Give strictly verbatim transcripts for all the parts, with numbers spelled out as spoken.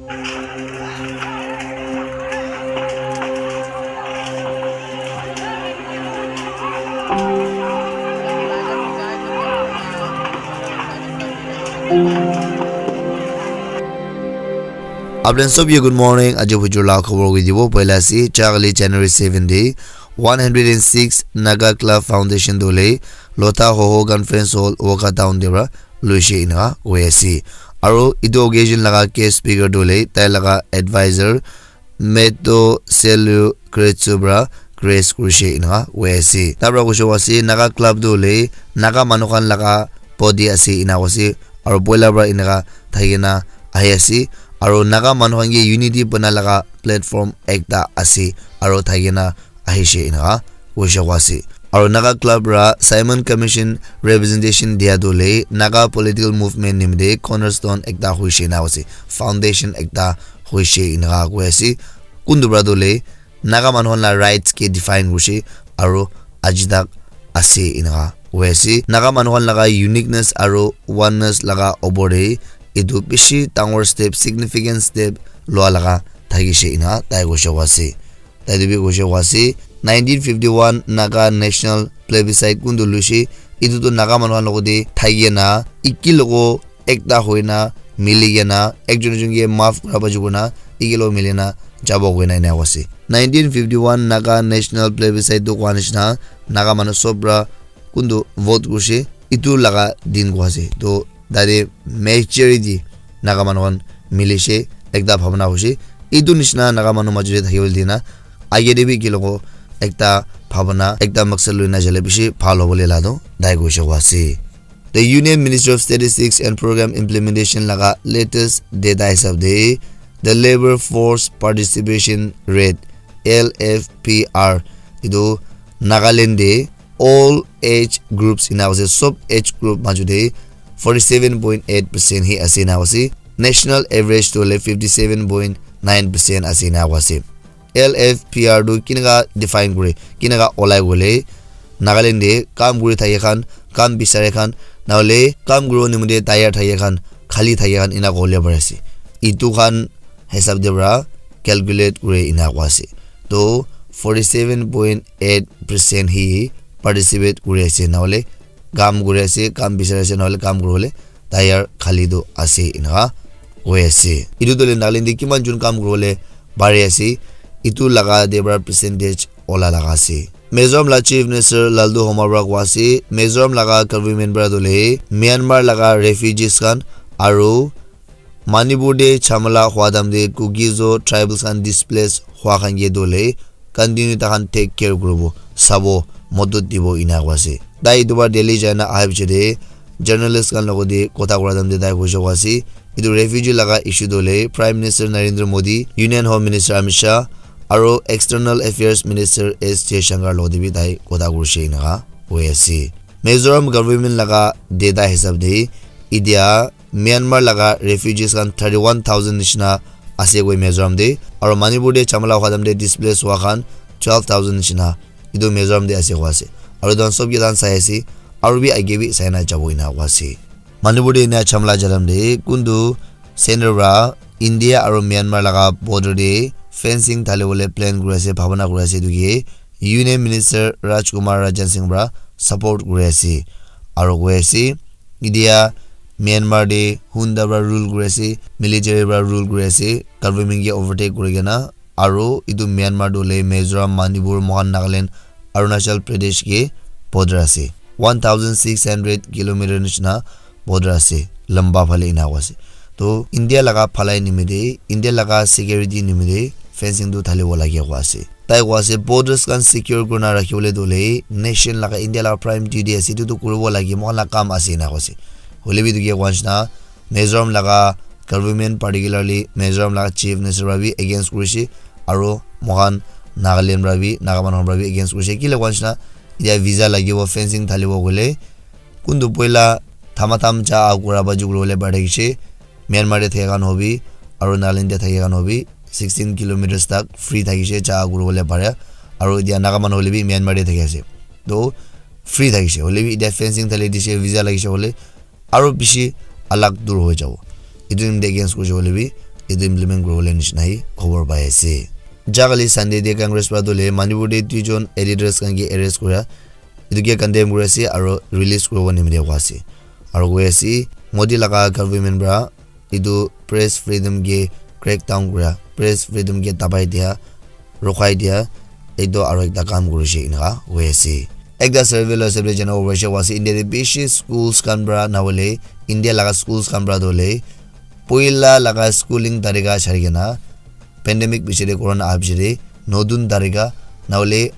Apni sob ye good morning. Aji bujur la khobor koi dibo. Poila ase, chakali January seven de, one hundred and six Naga Club Foundation dole Lotha Hoho Conference Hall, Wokha Town de pra loise inaka koi ase. Aro etu occasion laga guest speaker dole tai laga advisor Meto Selu Kretsu pra grace kurishe inaka koi ase. Tabra kuishe koise Naga Club tu hoile Naga manu khan laga body ase ena koise. Aro poila pra enaka thakina ahi ase. Aro Naga manu khan ke unity bana laga platform ekta ase. Aro thakina ahishe enaka kuishe koise. Aro Naga Club pra Simon Commission representation dia tu hoile Naga political movement nimite cornerstone ekta hoishe ena koise. Foundation ekta hoishe enaka koi ase. Kuntu pra tu hoile Naga manu khan la rights ke define kurishe aro aji tak ase enaka koi ase. Naga manu khan laga uniqueness aro oneness laga opor te etu bishi dangor step, significant step lua laga thakishe enaka tai koishe koise. Tai tu bi koishe koise nineteen fifty-one Naga National Plebiscite kuntu luishe, etu tu Naga manu khan logote thakikena eki logo ekta hoina milikena ekjon ekjon ke maaf kura baju kuna eki logo milikena jabo koina ena koise. Nineteen fifty-one Naga National Plebiscite tu koa nishina Naga manu sob pra kuntu vote kurishe etu laga din koa ase. To tate majority Naga manu khan milishe ekta bhabana hoishe. Etu nishina Naga manu majo te thakibole dina age te bi eki logo ekta bhabana ekta maksad loina jale bishi bhal hobole la tu tai koishe koa ase. The Union Ministry of Statistics and Program Implementation laga latest data hisab de the labor force participation rate L F P R etu Nagaland de all age groups ena ase sob age group majo te forty seven point eight percent hi ase ena ase. National average tu hoile fifty seven point nine percent ase ena ase. L F P R tu kinaka define kure, kinaka olai kole Nagaland de kam kuri thake khan, kam bisare khan, nahole kam kuribo nimite tayar thake khan, khali thake khan ena kobole pari ase. Etu khan hisab de pra calculate kure ena koa ase. To forty seven point eight percent hi participate kuri ase, nahole kam kuri ase, kam bisari ase, nahole kam kuribole tayar khali tu ase, enaka koi ase. Etu tu hoile Nagaland te kiman jon kam kuribole pari ase, etu laga te para percentage ola laga ase. Mizoram la Chief Minister Lalduhoma para koi ase, Mizoram laga government para tu hoile Myanmar laga refugees khan aru Manipur te jhamala hua time te Kuki-Zo tribals khan displace hua khan ke tu hoile continue takhan take care kuribo, sabo, modot dibo ena koi ase. Tai etu para Delhi jai na aha piche te journalist khan logot te kotha kura time te tai koise koi ase, etu refugee laga issue tu hoile Prime Minister Narendra Modi, Union Home Minister Amit Shah, aru External Affairs Minister S Jaishankar logot te bi tai kotha kurise enaka koi ase. Mizoram government laga data hisab te etia Myanmar laga refugees khan thirty one thousand nishina ase koi Mizoram te, aru Manipur te jhamala hua time te displace hua khan twelve thousand nishina etu Mizoram te ase koi ase. Aru etu khan sob ke tai khan sai ase, aru bi age bi sai na jabo ena koi ase. Manipur te ena jhamala ja time te kuntu center para India aru Myanmar laga border te fencing thali bole plan kuri ase, bhabana kuri ase, etu ke Union Minister Rajkumar Rajan Singh para support kuri ase. Aru koi ase, etia Myanmar te junta para rule kuri ase, military para rule kuri ase, government ke overtake kuri kena, aru etu Myanmar tu hoile Mizoram, Manipur, moikhan Nagaland, Arunachal Pradesh ke border ase. One thousand six hundred kilometer nishina border ase, lamba phale ena koi ase. To India laga phalai nimite, India laga security nimite fencing tu thalibo lage koi ase. Tai koi ase borders khan secure kurina rakhibole tu hoile nation laga, India laga prime duty ase, etu tu kuribo lage, moikhan laga kam ase ena koi ase. Hoile bi etu ke koi nishina Mizoram laga government, particularly Mizoram laga chief minister para bi against kurise, aru moikhan Nagaland para bi, Naga manu khan para bi against kurise. Kile koi nishina etia visa lagibo, fencing thalibo koile kuntu poila thamatham ja kura baju kuribole pari thakise. Myanmar te thaka khan hobi aru Nagaland te thaka khan hobi sixteen kilometers tak free thakise, ja kuribole pare. Aru etia Naga manu hoile bi Myanmar te thaki ase, to free thakise. Hoile bi etia fencing thali dise, visa lagise hoile aru bishi alag dur hoi jabo. Etu nimite against kurise hoile bi etu implement kuribole nishina hi khobor pai ase. Jakali Sunday te Congress para tu le Manipur te duijon editors khan ke arrest kura, etu ke condemn kuri ase aro release kuribo nimite koi ase. Aro koi ase, Modi laga government para etu press freedom ke crackdown kura, press freedom ke dabai dia, rokhai dia, etu aro ekta kam kurishe eneka hoi ase. Ekta survey la hisab te jana hoishe wa ase, India te bishi schools khan para na hoile, India laga schools khan para tu hoile, poila laga schooling tarika chari kena, pandemic piche te, corona aha piche te, notun tarika, na hoile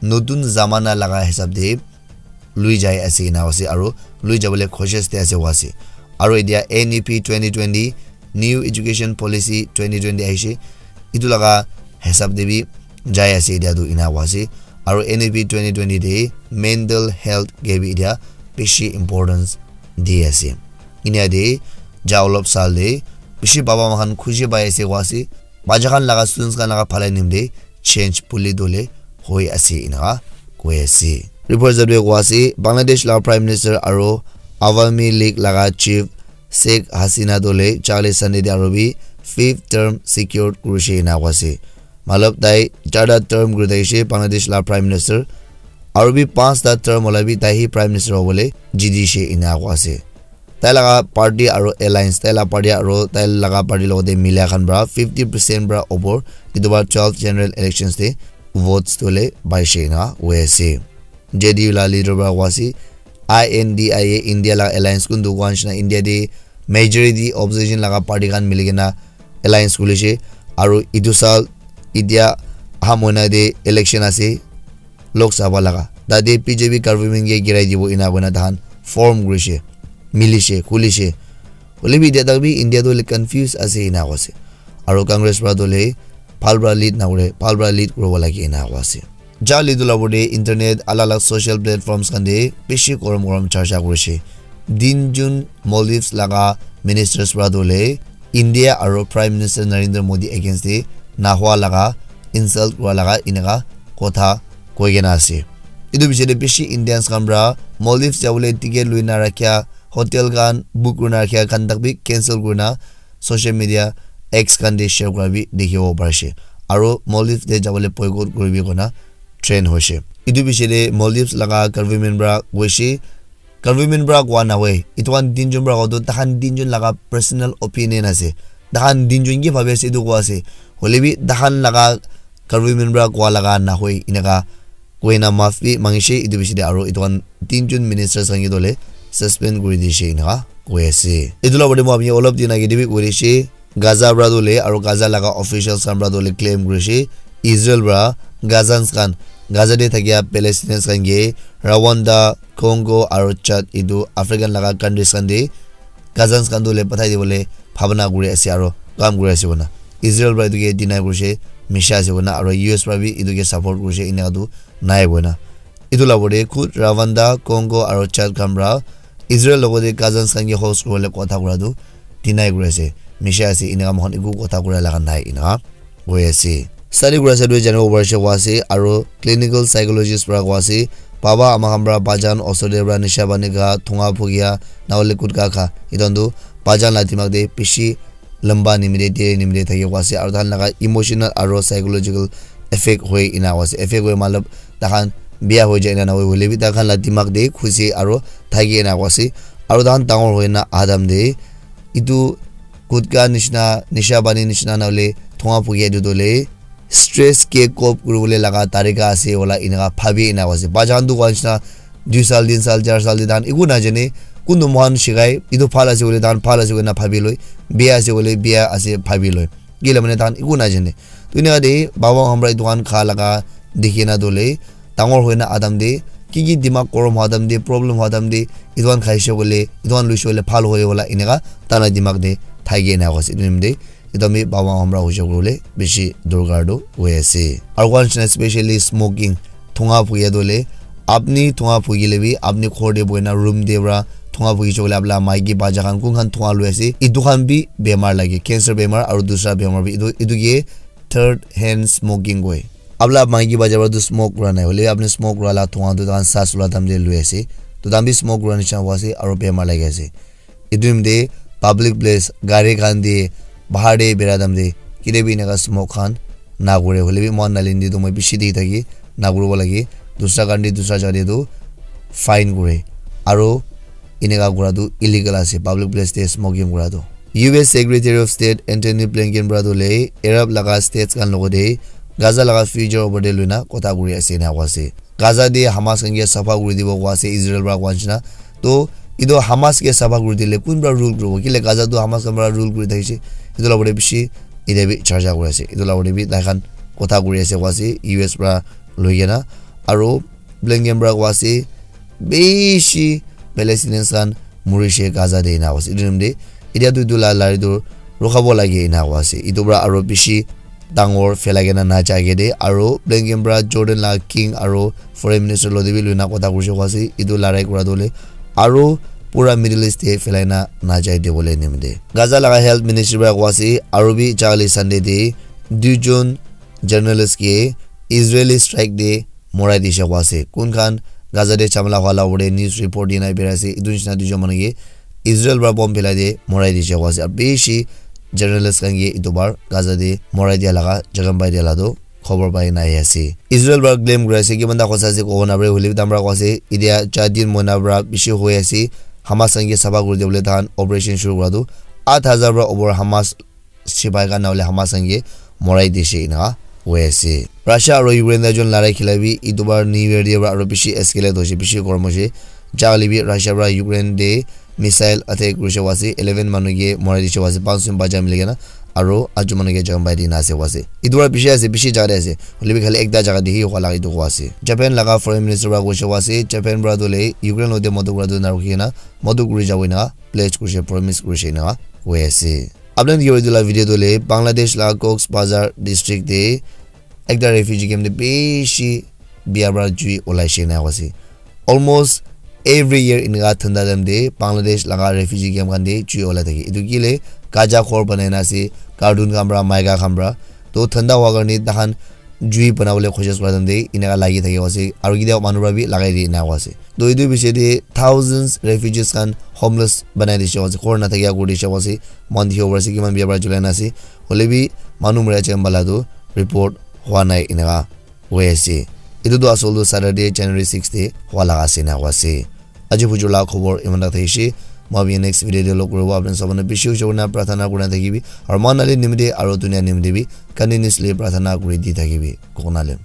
notun zamana laga hisab te, lui jai ase ena ase aro lui jabole cautious te ase wa ase. Aro etia N E P twenty twenty, New Education Policy twenty twenty ahishe, etu laga hisab te bi jai ase etia tu ena wa ase. Aro N E P twenty twenty te mental health ke bi etia bishi importance di ase. Inia te ja olop sal te bishi baba ma khan khushi pai ase wa ase. Bacha khan laga students khan laga phalai nim te change puli dole hoi ase ena koi ase. Report jab de koi ase, Bangladesh la Prime Minister aro Awami League laga Chief Sheikh Hasina dole Charlie Sunday de aro bi fifth term secured kurishe ena koi ase. Matlab tai charta term kuri thakishe Bangladesh la Prime Minister, aro bi panchta term hola bi tai hi Prime Minister hobole jidishe ena koi ase. Tai laga party aro alliance, tai laga party aro tai laga party logote milia khan para fifty percent para opor etu bar twelve general elections te votes tu le paishe ena koi ase. J D U la leader para koi ase, I N D I A, India laga alliance kuntu koi nishina India te majority opposition laga party khan mili kena alliance khulishe, aro etu sal etia aha moina te election ase, Lok Sabha laga. Tate B J P government ke girai dibo ena koina tahan form kurishe, milishe, khulishe. Hoile bi etia tak bi India tu hoile confuse ase ena koi ase. Aro Congress para tu hoile bhal para lead na kure, bhal para lead kuribo lage ena koi ase. Jali tu la opor te internet, alak alak social platforms khan te bishi gorom gorom charcha kurishe. Din jun Maldives laga ministers para tu hoile India aro Prime Minister Narendra Modi against te nahwa laga, insult kura laga eneka kotha koi kena ase. Etu piche te bishi Indians khan para Maldives jabole ticket lui na rakhia, hotel khan book kuri na rakhia khan tak bi cancel kuri na social media X khan te share kura bi dikhibo parishe. Aro Maldives te jabole boycott kuri bi koina trend hoishe. Etu piche te Maldives laga government para koishe, government para koa nahoi. Etu khan tinjon para koa tu takhan tinjon laga personal opinion ase. Takhan tinjon ki bhabi ase etu koa ase. Hoile bi takhan laga government para koa laga nahoi eneka koina maaf bi mangishe etu piche te aro etu khan tinjon ministers khan ke tu hoile suspend kuri dishe eneka koi ase. Etu la opor te moi apni olop din age te bi koi dishe, Gaza para tu hoile aro Gaza laga officials khan para tu hoile claim kurishe Israel para Gazans khan, Gaza te thakia Palestinians khan ke Rwanda, Congo aro Chad etu African laga countries khan te Gazans khan tu hoile pathai dibole bhabana kuri ase aro kam kuri ase koina. Israel para etu ke deny kurishe, misha ase koina aro U S para bi etu ke support kurishe eneka tu nai koina. Etu la opor te khud Rwanda, Congo aro Chad khan para Israel logote Gazans khan ke host kuribole kotha kura tu deny kuri ase, misha ase, eneka moikhan eku kotha kura laga nai eneka koi ase. Study kura side te janibo parishe koi ase aro clinical psychologist para koi ase, baba ama khan para bajan osor te para nisha pani kha, thunga phukia, na hoile gutka kha, etu khan tu bajan la dimag te bishi lamba nimite, dere nimite thaki koi ase aro tahan laga emotional aro psychological effect hoi ena koi ase. Effect hoi matlab takhan biya hoi jai na nahoi hoile bi takhan la dimag te khushi aro thaki ena koi ase. Aro tahan dangor hoi na adam te etu gutka nishina, nisha pani nishina na hoile thunga phukia etu tu hoile stress ke cope kuribole laga tarika ase wala eneka bhabi ena koi ase. Bacha khan tu koi nishina dui sal, tin sal, char sal te tahan eku najane, kuntu moikhan shikai, etu bhal ase koile tahan bhal ase koina bhabi loi, biya ase koile biya ase bhabi loi. Kile mane tahan eku najane. Tu eneka te baba khan para etu khan kha laga dikhi na tu hoile dangor hoi na adam te ki ki dimag gorom hwa time te, problem hwa time te, etu khan khaishe koile, etu khan luishe koile bhal hoi wala eneka tahan la dimag te thaki ena koi ase. Etu nimite etu ami baba khan para hoishe koile bishi dorkar tu hoi ase. Aro koi nishina specially smoking, thunga phukia tu hoile, apni thunga phukile bi apni ghor te buhina room te para thunga phukishe koile apni la maiki bacha khan kun khan thunga lui ase, etu khan bi bemar lage, cancer bemar aro dusra bemar bi, etu, etu ke third hand smoking koi. Apni la maiki bacha para tu smoke kura nai hoile bi apni smoke kura la thunga tu takhan saas lua time te lui ase, tu takhan bi smoke kura nishina hoi ase aro bemar lagi ase. Etu nimite public place, gari khan te, Bahar te bera time te ketia bi eneka smoke khan na kore. Hoile bi moikhan Nagaland te toh moi bishi dikhi thaki na kuribo lage. Dusra country, dusra jaga te toh fine kore. Aro eneka kura toh illegal ase, public place te smoking kura toh. U S Secretary of State Antony Blinken para toh le Arab laga states khan logote Gaza laga future opor te loina kotha kuri ase ena koa ase. Gaza te Hamas khan ke sapha kuri dibo koa ase Israel para koa nishina. To etu Hamas ke sapha kuri dile kun para rule kuribo? Kile Gaza tu Hamas khan para rule kuri thakishe. Etu la opor te bishi etia bi charcha kuri ase. Etu la opor te bi tai khan kotha kuri ase koa ase U S para loi kena. Aro Blinken para koa ase bishi Palestinians khan murishe Gaza te ena koa ase. Etu time te etia tu etu la lari tu rokhabo lage ena koa ase. Etu para aro bishi dangor phelai kena na jai ke de, aro Blinken para Jordan la king aro foreign minister lo de bi loina kotha kurishe koa ase, etu larai kura tu le aro pura Middle East te phelai na na jai de bole nimite. Gaza laga health ministry para koa ase, aro bi jali Sunday te duijon journalist ke Israeli strike te morai dishe koa ase. Kun khan Gaza te chamla hwala ure news report dina bera ase, etu nishina duijon manu ke Israel para bomb phelai de morai dishe koa ase. Aro bishi journalist khan ke etu bar Gaza te morai dia laga jaga pai dia la toh khobor pai na ahi ase. Israel para claim kuri ase, kiman ta hosa ase kobo napare, hoile bi tai khan para koa ase, etia char din mohina para bishi hoi ase, Hamas khan ke sapha kuri dibole tai khan operation shuru kura toh, aat hazar para opor Hamas sipai khan nahole Hamas khan ke morai dishe ena hoi ase. Russia aro Ukraine tai jon larai khila bi etu bar New Year te para aro bishi escalate hoise, bishi gorom hoise. Ja hoile bi Russia para Ukraine te missile attack kurishe koa ase, eleven manu ke morai dishe koa ase, panch jon bacha mili kena, aro aat jon manu ke jaga pai dina ase koa ase. Etu para bishi ase, bishi jaga te ase, hoile bi khali ekta jaga te hi hua laga etu koa ase. Japan laga foreign minister para koishe koa ase, Japan para tu le Ukraine lo te madad kura tu na rukhi kena madad kuri jabo ena pledge kurishe, promise kurishe ena hoi ase. Apni khan dikhibo etu la video tu le Bangladesh la Cox's Bazar district te ekta refugee camp te bishi bia para jui olai she ena koa ase. Almost every year eneka thanda time te Bangladesh laga refugee camp khan te jui olai thake. Etu ki le kacha ghor banai na ase, carton khan para, maika khan para. To thanda hua karne tai khan jui banabole koshish kura time te eneka lagi thake ase, aro ketia manu para bi lagai di ena koa ase. To etu bishi te thousands refugees khan homeless banai dishe ase, ghor na thakia kuri dishe ase, moikhan dikhibo pari ase kiman bia para julai na ase, hoile bi manu mura jam bala tu report hua nai eneka hoi ase. Etu tu asol tu Saturday January six te hua laga ase ena koa ase. Aji bujur la khobor iman tak thakishe, moi bi next video te log kuribo, apni sob manu bishi bishi kurina prarthana kurina thakibi, aro moikhan nale nimite aro dunia nimite bi continuously prarthana kuri di thakibi, kokona le.